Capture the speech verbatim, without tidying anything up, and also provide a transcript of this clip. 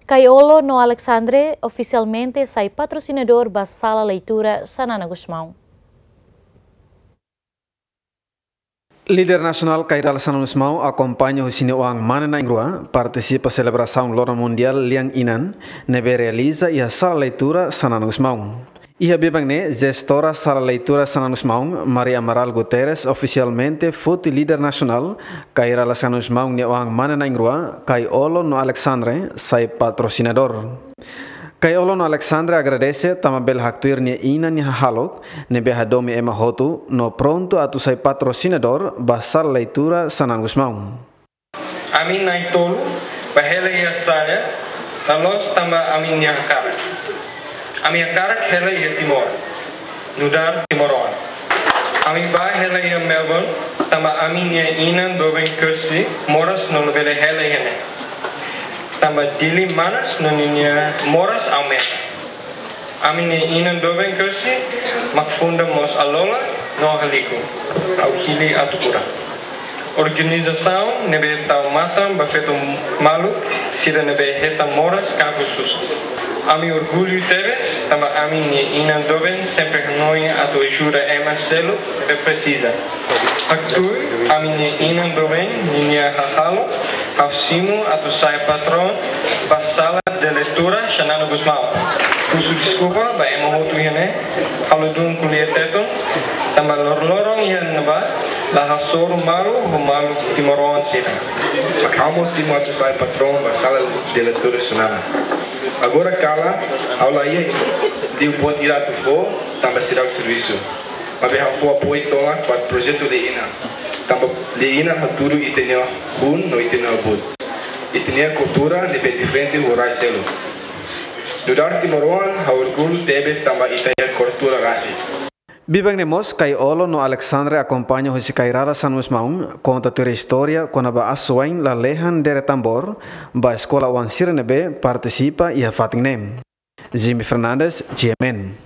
Caio Ló no Alexandre ofisialmente sai patrosinadór ba Sala Leitura Xanana Gusmão. Líder nasionál Kay Rala Xanana Gusmão akompaña husi nia oan mane na'in-rua partisipa selebrasaun Loron Mundiál Lian Inan ne'ebé realiza iha Sala Leitura Xanana Gusmão. Iha biban ne'e, jestora Sala Leitura Xanana Gusmão, Maria Amaral Guterres, ofisialmente foti líder nasionál Kay Rala Xanana Gusmão nia oan mane na'in-rua, Caio Ló no Alexandre, sai patrosinadór. Caio Ló no Alexandre agradese tanba bele haktuir nia inan nia hahalok ne'ebé hadomi ema hotu no prontu atu sai patrosinadór ba Sala Leitura Xanana Gusmão. Ami na'in-tolu bá hela iha Austrália, la'ós tanba ami-nia hakarak. Ami hakarak hela iha Timor, nu'udar timoroan. Ami bá hela iha Melbourne, tanba ami-nia inan doben Kirsty moras no labele hela iha ne'e. Tanba Dili manas no ninia moras aumenta. Ami-nia inan doben Kirsty mak funda mós Alola no Haliku. Ha'u hili atu kura. Organizasaun ne'ebé tau matan ba feto maluk sira ne'ebé hetan moras ka susar. Ami orgullu tebes tanba ami-nia inan doben sempre hanoin atu ajuda ema seluk ne'ebé presiza. Haktuir ami-nia inan doben ninia hahalok, ha'u simu atu sai patroin ba Sala de Leitura Xanana Gusmão. Husu deskulpa ba ema hotu iha ne'e, halo dun ko'alia Tetun, tanba loroloron iha ne'ebá la hasoru malu ho maluk timoroan sira. Mak ha'u mós simu atu sai patroin ba Sala de Leitura Xanana. Agora kala, ha'u la iha liu buat ida atu fó, tanba seidauk servisu. Maibé ha'u fó apoiu tomak ba projetu Lian Inan. Tanba Lian Inan hatudu ita-nia hun no ita-nia abut. Ita-nia kultura ne'ebé diferente ho rai seluk. Nu'udar timoroan, ha'u orgullu tebes tanba ita iha kultura rasik. Biban ne'e mós, Caio Ló no Alexandre akompaña husi Kay Rala Xanana Gusmão, konta tuir istória kona-ba asuwa'in lalehan dere tambór ba eskola oan sira ne'ebé partisipa iha fatin ne'e. Jimmy Fernandes, G M N.